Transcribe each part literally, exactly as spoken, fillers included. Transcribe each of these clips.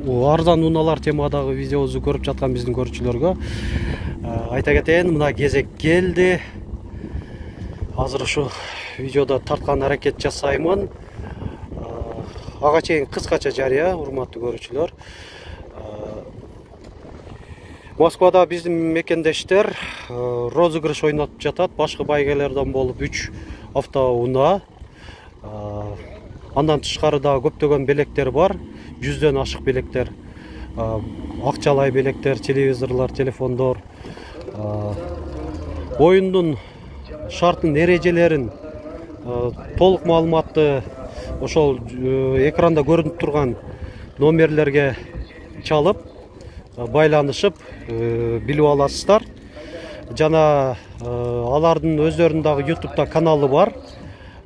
арзан унаалар темадагы видеобузду көрүп жаткан биздин көрүүчүлөргө айта кетейин, мына кезек келди. Азыр ушу видеодо тарткан аракет жасаймын. Ага чейин кыскача жарыя, урматтуу көрүүчүлөр. Москвада биздин мекендештер розыгрыш ойнотуп жатат. Башкы байгелерден болуп үч автоунаа. Андан тышкары да көптөгөн белектер бар. Жүздөн ашык белектер, акчалай белектер, телевизорлор, телефондор. Оюндун шартын, эрежелерин, толук маалыматты ошол экранда көрүнүп турган номерлерге чалып, байланышып билип аласыздар. Жана алардын өздөрүнүн дагы ютубта каналы бар.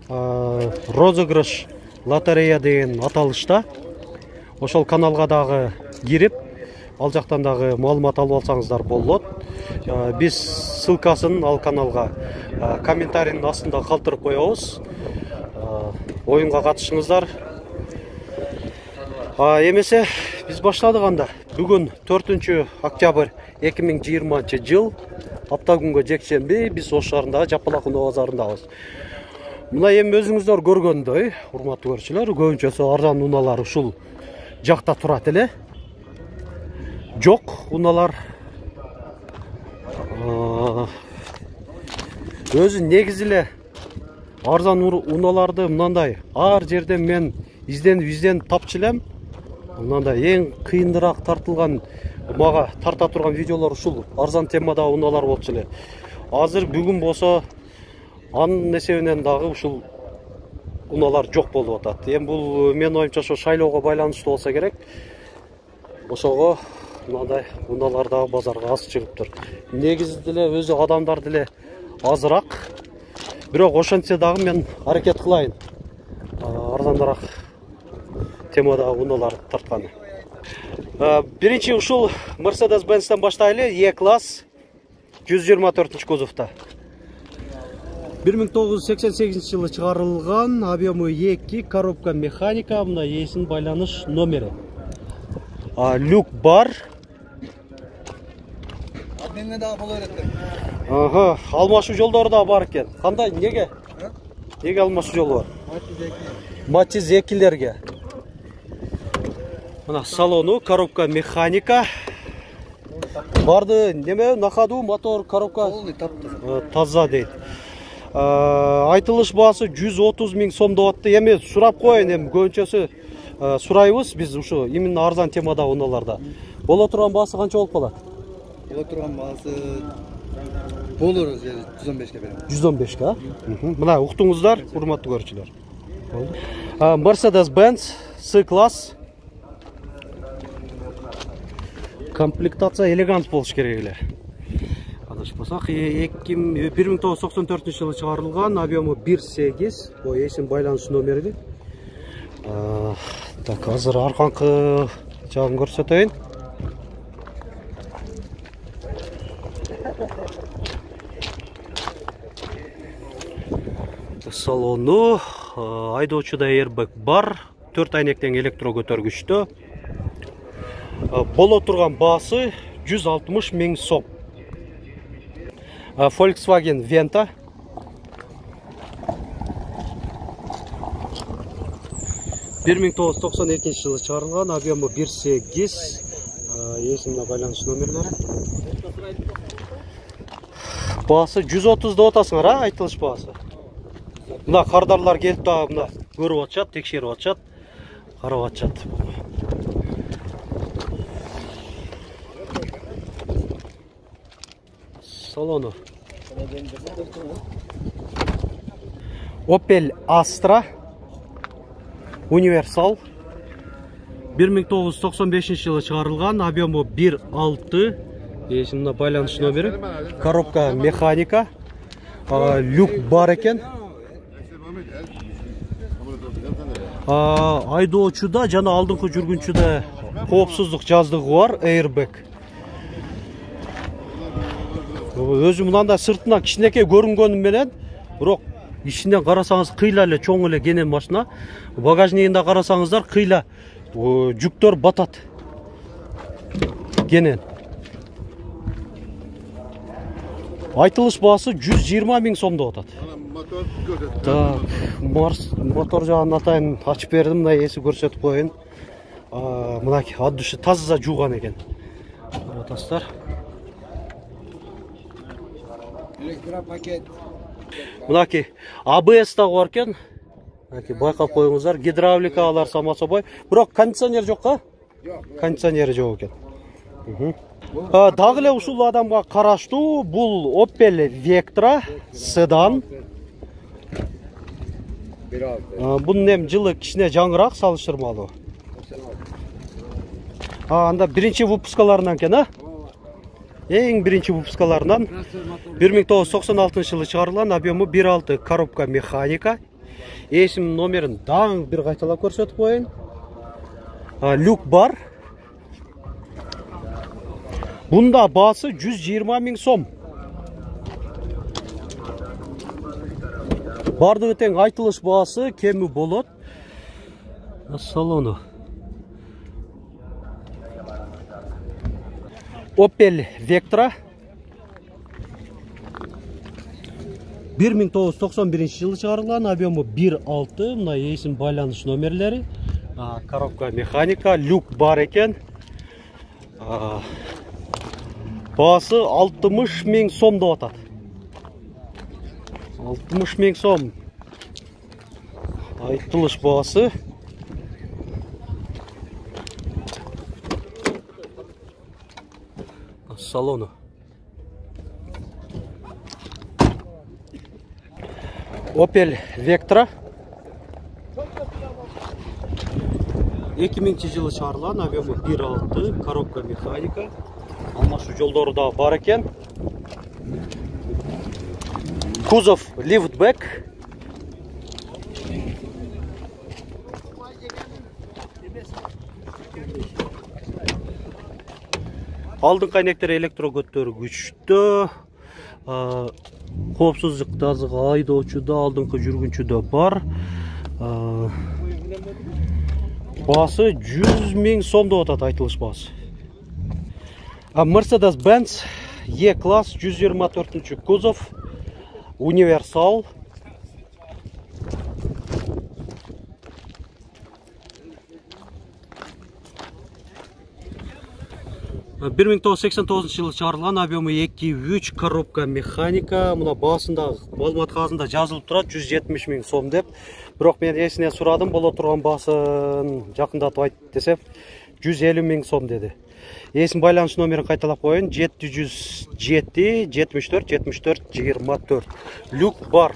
Розыгрыш лотерея деген аталышта. Ошол каналга дагы кирип, ал жактан дагы маалымат алып алсаңыздар болот. Биз ссылкасын ал каналга комментарийдин астында калтырып коебуз. Оюнга катышыңыздар. Эмесе биз баштадык анда. Бүгүн төртүнчү октябрь эки миң жыйырманчы жыл, апта күнгө жекшемби, биз Ош шаарындагы Жапалак унаа базарындабыз. Мына эми өзүңүздөр көргөндөй, урматтуу көрүүчүлөр, көбүнчөсү арзан унаалар ушул жакта турат эле. Жок, унаалар өзү негизи эле арзан унааларды мындай ар жерден мен изденип изденип тапчу элем. Мындай эң кыйыныраак тартылган, мага тарта турган видеолор ушул арзан темада унаалар болчу эле. Азыр бүгүн болсо анын эсебинен дагы ушул унаалар жок болуп атат. Эми бул менин оюмча ошо шайлоого байланыштуу болсо керек. Ошого мындай унаалар дагы базарга аз чыгыптыр. Негизи деле өзү адамдар деле азыраак. Бирок ошентсе дагы мен аракет кылайын арзаныраак темада унаалар тартканы. Биринчи ушул Mercedes-Benz'тен баштайлы. E-класс жүз жыйырма төртүнчү кузовта. бир миң тогуз жүз сексен сегизинчи жылы чыгарылган, объему эки, коробка механика, мына эсин байланыш номери. Люк бар. Абнеме дагы боло берет. Ага, алмашуу жолдору да бар экен. Кандай, неге? Неге алмашуу жолу бар? Матиз экилерге. Мына салону, коробка механика. Барды неме, нахаду, мотор, коробка таза дейт. Айтылыш баасы жүз отуз миң сом деп атты. Эми сурап коеюн, эми көбүнчөсү сурайбыз биз ушу именно арзан темада унааларда. Боло турган баасы канча болуп калат? Боло турган баасы болор жүз он бешке берем. жүз он бешке, а? Мына уктуңуздар, урматтуу көрүүчүлөр. Болду. Mercedes-Benz C-класс. Комплектация элегант болуш керек эле. Адашпасак, бир миң тогуз жүз токсон төртүнчү жылы чыгарылган, объему бир сегиз, бул эсин байланыш номери. Так, азыр арканкы жагын көрсөтөйүн. Салону, айдоочуда airbag бар, төрт айнектен электро көтөргүчтө. Боло турган баасы жүз алтымыш миң сом. Volkswagen Venta. бир миң тогуз жүз токсон экинчи жылы чыгарылган, объему бир сегиз, эсине байланыш номерлери. Баасы жүз отуз деп атасыңар, а, айтылыш баасы. Мына кардарлар келип дагы мына көрүп атышат, текшерип атышат, карап атышат. Салону. Opel Astra Универсал. бир миң тогуз жүз токсон бешинчи жылы чыгарылган, объему бир алты, эсине байланыш номери, коробка механика, люк бар экен. Айдоочуда жана алдыңкы жүргүнчүдө коопсуздук жаздыгы бар, airbag. Өзү мындай сыртына кичинекей көрүнгөнү менен, бирок ичинен карасаңыз кыйла эле чоң эле кенен машина. Багажнигинде карасаңыздар кыйла жүктөр батат. кенен. Айтылыш баасы жүз жыйырма миң сом деп атат. Мотор көрсөт. Так, Марс мотор жагын атайын ачып бердим, мына эси көрсөтүп коеюн. Мынакей от души таза жууган экен. Атасыздар. Электропакет. Мынакей А Б С дагы бар экен. Мынакей байкап коюңуздар, гидравлика алар сама собой. Бирок кондиционер жокка? Жок. Кондиционери жок экен. Дагы эле ушул адамга караштуу бул Opel Vectra седан. Бунун эми жылы кичине жаңыраак салыштырмалуу. А анда биринчи выпускаларынан экен, а? Эң биринчи выпускаларынан бир миң тогуз жүз токсон алтынчы жылы чыгарылган, объему бир алты коробка механика. Эсим номерин дагы бир кайталап көрсөтүп коеюн. Люк бар. Бунда баасы жүз жыйырма миң сом. Бардыгы тең айтылыш баасы кеми болот. Салону. Opel Vectra. бир миң тогуз жүз токсон биринчи жылы чыгарылган, объему бир алты, мына эсим байланыш номерлери. Коробка механика, люк бар экен. Баасы алтымыш миң сом деп атат. алтымыш миң сом. Айтылыш баасы. Салону. Opel Vectra. эки миңинчи жылы чыгарылган, объему бир алты, коробка механика. Алмашуу жолдору да бар экен. Кузов лифтбек. Алдыңкы айнектер электро көтөргүчтө, коопсуздук жазыгы айдоочуда, алдыңкы жүргүнчүдө бар. Баасы жүз миң сом деп атат айтылыш баасы. Mercedes-Benz E-класс жүз жыйырма төртүнчү кузов, универсал. бир миң тогуз жүз сексен тогузунчу жылы чыгарылган, объему эки үч, коробка механика. Мына баасында маалымат кагазында жазылып турат жүз жетимиш миң сом деп. Бирок мен эсине сурадым, боло турган баасын жакындатып айт десем жүз элүү миң сом деди. Эсим байланыш номерин кайталап коеюн: жети жүз жети, жетимиш төрт, жетимиш төрт, жыйырма төрт. Люк бар.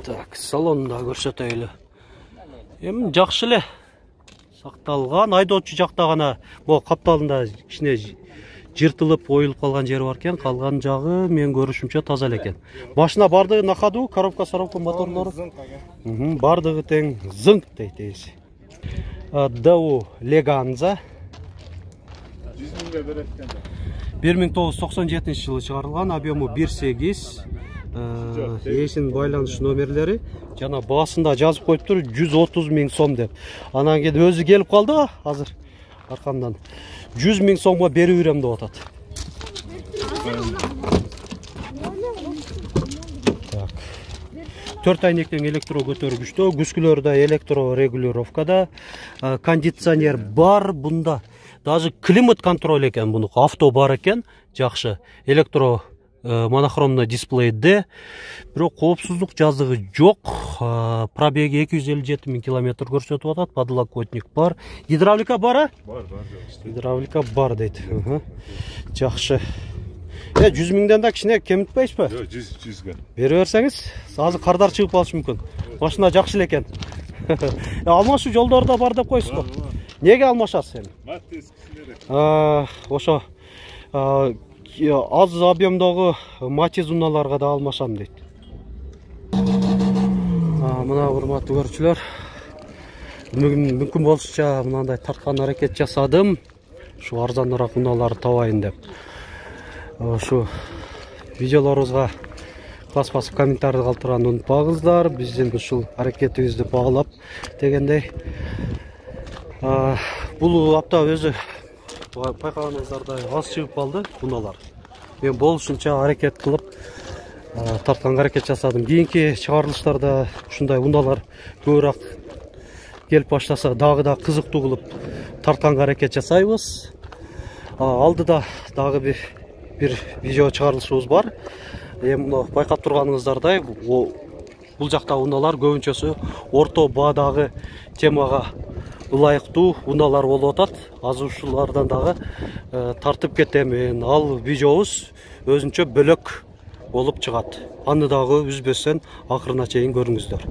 Так, салонда көрсөтөйлү. Эми жакшы эле сакталган. Айдоочу жакта гана могу капталында кичине жыртылып, оюлуп калган жери бар экен. Калган жагы мен көрүшүмчө таза эле экен. Башына бардыгы на ходу, коробка саробка моторлору. Бардыгы тең зыңк дейт эси. Дау Леганза. бир миң тогуз жүз токсон жетинчи жылы чыгарылган, объему бир сегиз. Эсин байланыш номерлери жана баасында жазып коюптур жүз отуз миң сом деп. Анан кийин өзү келип калды азыр аркамдан. жүз миң сомго берип берем деп атат. Так. төрт айнектен электро көтөргүчтө, күскүлөр да электро регулировкада, кондиционер бар бунда. Даже климат контроль экен буну, авто бар экен, жакшы. Электро монохромный дисплейде, бирок коопсуздук жазыгы жок. Пробеги эки жүз элүү жети миң километр көрсөтүп атат. Подлокотник бар. Гидравлика бар, а? Бар, бар. Гидравлика бар дейт. Жакшы. Э, жүз миңден да кичине кемитпейсизби? Жок, жүз жүзгө. Бере берсеңиз, азыр кардар чыгып калышы мүмкүн. Машина жакшы эле экен. Алмашуу жолдору да бар деп койсуз го. Неге алмашасыз эми? Маттес кичинерээк. Ошо аз объемдогу Матиз унааларга да алмашам дейт. Мына урматтуу көрүүчүлөр, мүмкүн болушунча мындай тарткан аракет жасадым. Ушу арзаныраак унааларды табайын деп. Ушу видеолорубузга бас басып комментарий калтырганды унутпаңыздар. Биздин ушул аракетибизди баалап дегендей. Бул апта өзү байкаганыңыздардай аз чыгып калды унаалар. Мен болушунча аракет кылып тартканга аракет жасадым. Кийинки чыгарылыштарда ушундай унаалар көбүрөөк келип баштаса дагы да кызыктуу кылып тартканга аракет жасайбыз. Алдыда дагы бир бир видео чыгарылышыбыз бар. Эми мына байкап турганыңыздардай бул жакта унаалар көбүнчөсү орто баадагы темага ылайыктуу унаалар болуп атат. Азыр ушулардан дагы тартып кетем. Ал видеобуз өзүнчө бөлөк болуп чыгат. Аны дагы үзбөстөн акырына чейин көрүңүздөр.